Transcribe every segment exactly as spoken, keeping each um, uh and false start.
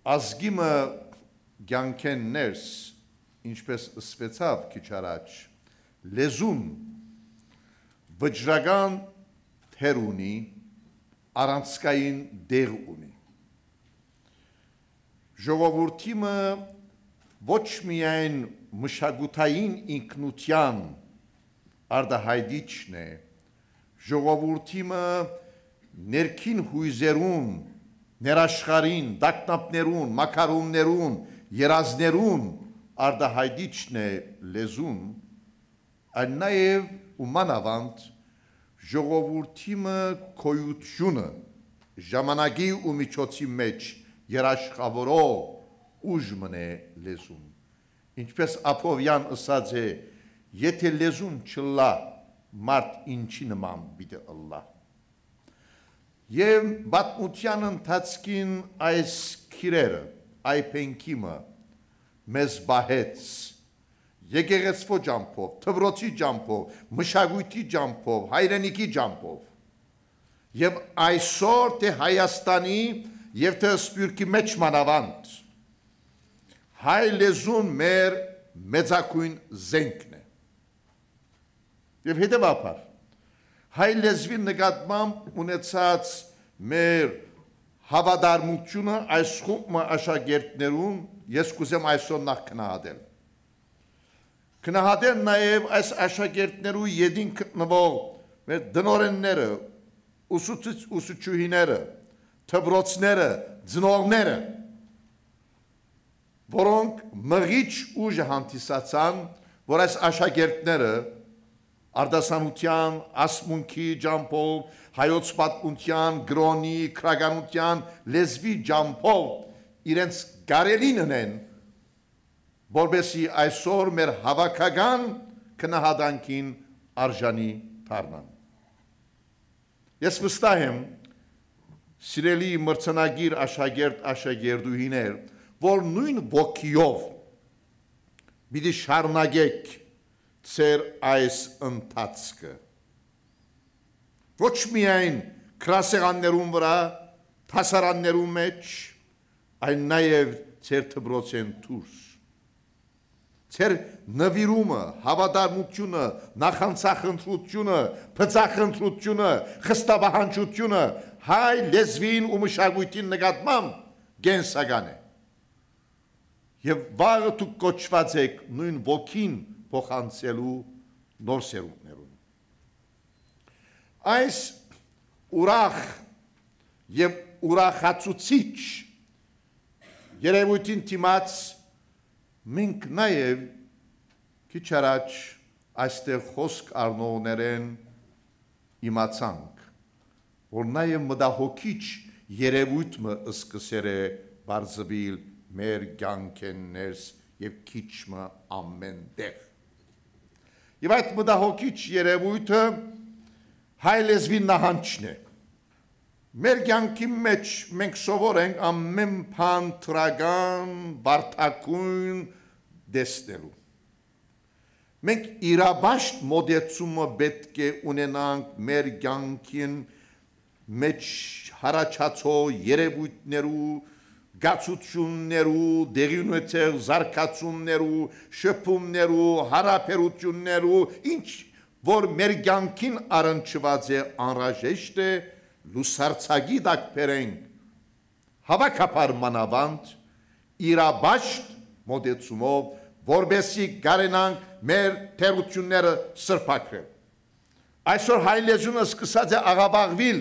Ազգի մը կեանքէն ներս, ինչպէս ըսուեցաւ քիչ առաջ, լեզուն վճռական դեր ունի, առանցքային տեղ ունի։ Ժողովուրդի մը ոչ միայն մշակութային ինքնութեան արտայայտիչն է, ժողովուրդի մը ներքին յոյզերուն, ներաշխարհին, տագնապներուն, մակարումներուն, երազներուն արտայայտիչն է լեզուն, այլ նաեւ ու մանաւանդ ժողովուրդի մը գոյութիւնը ժամանակի ու միջոցի մէջ երաշխաւորող ուժ մըն է լեզուն։ Ինչպէս Աբովեան ըսած է, «Եթէ լեզուն չըլլայ, մարդ ինչի նման պիտի ըլլայ»։ Եւ պատմութեան ընթացքին այս քիրերը, այ փենքի մը, մեզ պահեց եկեղեցւոյ ճամբով, դպրոցի ճամբով, մշակոյթի ճամբով, հայրենիքի ճամբով։ Եւ այսօր թէ Հայաստանի եւ թէ Սփիւռքի մէջ մանաւանդ, հայ լեզուն մեր մեծագոյն զենքն է։ Եւ հետեւաբար, հայ լեզուին նկատմամբ ունեցած մեր հաւատարմութիւնը այս խումբ մը աշակերտներուն ես կ'ուզեմ այսօր նախ գնահատել։ Գնահատել նաեւ այս աշակերտներու ետին գտնուող մեր տնօրէնները, ուսուցիչ-, ուսուցչուհիները, դպրոցները, ծնողները, որոնք մղիչ ուժը հանդիսացան, որ այս աշակերտները արտասանութեան, ասմունքի ճամբով, հայոց պատմութեան, կրօնի, գրականութեան, լեզուի ճամբով իրենց կարելին ընեն, որպեսզի այսօր մեր հաւաքական գնահատանքին արժանի դառնան։ Ես վստահ եմ, սիրելի մրցանակիր աշակերտ, աշակերտուհիներ, որ նոյն ոգիով պիտի շարունակեք ձեր այս ընթացքը։ Ոչ միայն գրասեղաններուն վրայ, դասարաններուն մէջ, այլ նաեւ ձեր դպրոցէն դուրս։ Ձեր նուիրումը, հաւատարմութիւնը, նախանձախնդրութիւնը, բծախնդրութիւնը, խստապահանջութիւնը հայ լեզուին ու մշակոյթին նկատմամբ կենսական է։ Եւ վաղը դուք կոչուած էք նոյն ոգին փոխանցելու նոր սերունդներուն։ Այս ուրախ եւ ուրախացուցիչ երեւոյթին դիմաց մենք նաեւ քիչ առաջ այստեղ խօսք առնողներէն իմացանք, որ նաեւ մտահոգիչ երեւոյթ մը սկսեր է բարձուիլ մեր կեանքէն ներս եւ քիչ մը ամէն տեղ։ Եւ այդ մտահոգիչ երեւոյթը հայ լեզուի նահանջն է։ Մեր կեանքի մէջ մենք սովոր ենք ամէն բան դրական, վարդագոյն տեսնելու։ Մենք իրապաշտ մոտեցումը պէտք է ունենանք մեր կեանքին մէջ յառաջացող երեւոյթներու, կացութիւններու, տեղի ունեցող զարգացումներու, շփումներու, յարաբերութիւններու, ինչ որ մեր կեանքին առնչուած է, անհրաժեշտ է լուսարձակի տակ բերենք, հաւաքաբար մանաւանդ իրապաշտ մոտեցումով, որպեսզի կարենանք մեր թերութիւնները սրբագրել։ Այսօր հայ լեզուն սկսած է աղաւաղուիլ։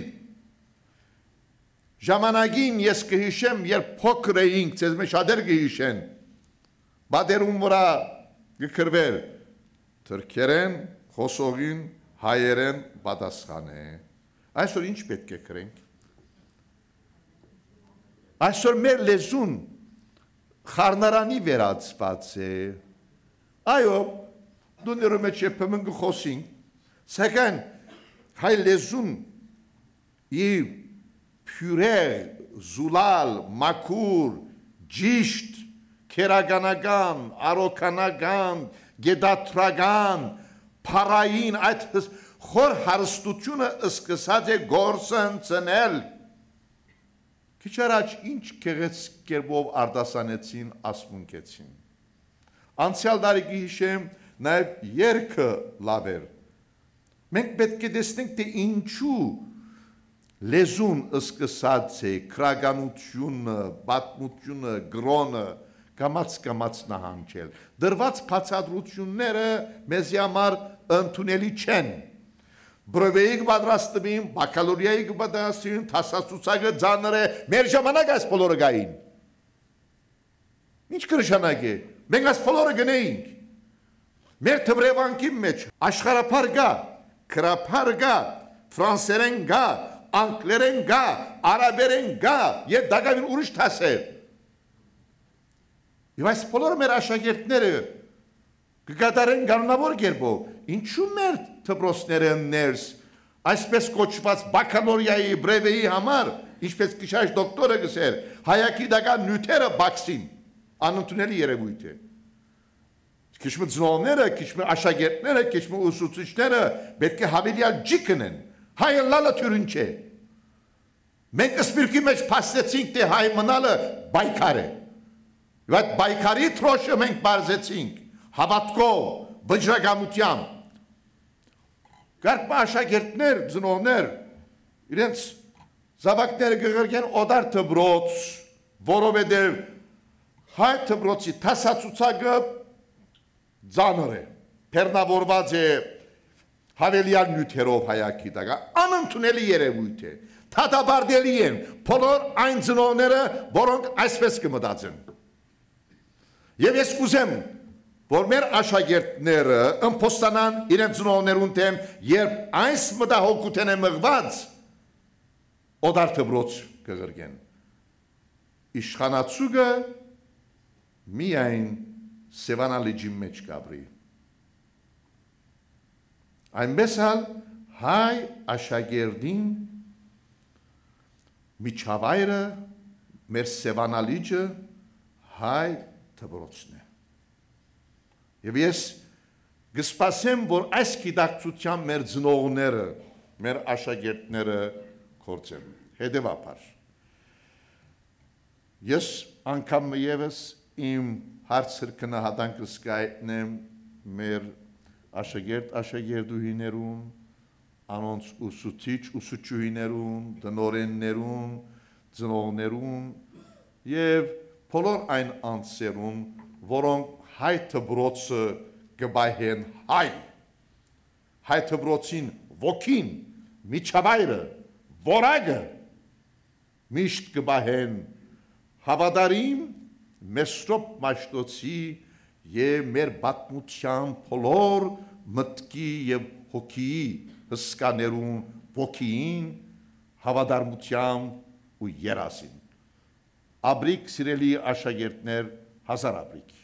Ժամանակին ես կը յիշեմ, երբ փոքր էինք, ձեզմէ շատեր կը յիշեն, պատերուն վրայ կը գրուէր թրքերէն խօսողին հայերէն պատասխան է։ Այսօր ինչ պէտք է գրենք։ Այսօր մեր լեզուն խառնարանի վերածուած է։ Այո, տուներու մէջ երբեմն կը խօսինք, սակայն հայ լեզուն ի բիւրեղ, զուլալ, մաքուր, ճիշտ, քերականական, արոգանական, գետադրական, փառային այդ հս-, խոր հարստութիւնը սկսած է գործընծնել։ Քիչ առաջ ինչ գեղեցիկ կերպով արտասանեցին, ասմունքեցին։ Անցեալ տարի կը յիշեմ, նաեւ երգը լաւ էր։ Մենք պէտք է տեսնենք, թէ ինչու լեզուն սկսած է գրականութիւնը, պատմութիւնը, կրօնը կամաց-կամաց նահանջել։ Տրուած բացատրութիւնները մեզի համար ընդունելի չեն։ Բրեւեի կը պատրաստուին, բակալորիայի կը պատրաստուին, դասացուցակը ծանր է, մեր ժամանակ այս բոլորը կային։ Ինչ կը նշանակէ։ Մենք այս բոլորը կ'ընէինք։ Մեր դպրեվանքին մէջ աշխարհաբար կայ, գրաբար կայ, ֆրանսերէն կայ, անգլերէն կայ, արաբերէն կայ եւ տակաւին ուրիշ դասեր։ Եւ այս բոլորը մեր աշակերտները կը կատարեն կանոնաւոր կերպով։ Ինչու՞ մեր դպրոցները ներս այսպես կոչուած բակալորիայի, բրեւեի համար, ինչպես քիչ առաջ դոկտորը կ'ըսէր, հայագիտական նիւթերը պակսին, անընդունելի երեւոյթ է։ Քիչ մը ծնողները, քիչ մը աշակերտները, քիչ մը ուսուցիչները պէտք է յաւելեալ ջի գնեն։ Հայ ըլլալը դիւրին չէ։ Մենք սփիւռքի մէջ փաստեցինք, թէ հայ մնալը պայքար է։ Եւ այդ պայքարի դրոշը մենք պարզեցինք հաւատքով, վճռակամութեամբ։ Կարգ մը աշակերտներ, ծնողներ իրենց զաւակները կը ղրկեն օտար դպրոց, որովհետեւ հայ դպրոցի դասացուցակը ծանր է, բեռնաւորուած է յաւելեալ նիւթերով հայագիտական, անընդունելի երեւոյթ է, դատապարտելի են բոլոր այն ծնողները, որոնք այսպես կը մտածեն։ Եւ ես կ'ուզեմ, որ մեր աշակերտները ըմբոստանան իրենց ծնողներուն դէմ, երբ այս մտահոգութենէ մղուած օտար դպրոց կը ղրկեն։ Իշխանաձուկը միայն Սեւանա լիճին մէջ կ'ապրի։ Այնպէս ալ հայ աշակերտին միջավայրը, մեր Սեւանա լիճը հայ դպրոցն է։ Եւ ես կը սպասեմ, որ այս գիտակցութեան մեր ծնողները, մեր աշակերտները գործեն։ Հետեւաբար, ես անգամ մը եւս իմ հարցը գնահատանքս կայտնեմ մեր աշակերտ-աշակերտուհիներուն, անոնց ուսուցիչ-ուսուցչուհիներուն, տնօրէններուն, ծնողներուն եւ բոլոր այն անձերուն, որոնք հայ դպրոցը կը պահեն հայ, հայ դպրոցին ոգին, միջավայրը, որակը միշտ կը պահեն հաւատարիմ Մեսրոպ Մաշտոցի եւ մեր պատմութեան բոլոր մտքի եւ հոգիի հսկաներուն ոգիին, հաւատարմութեան ու երազին։ Ապրիք, սիրելի աշակերտներ, հազար ապրիք։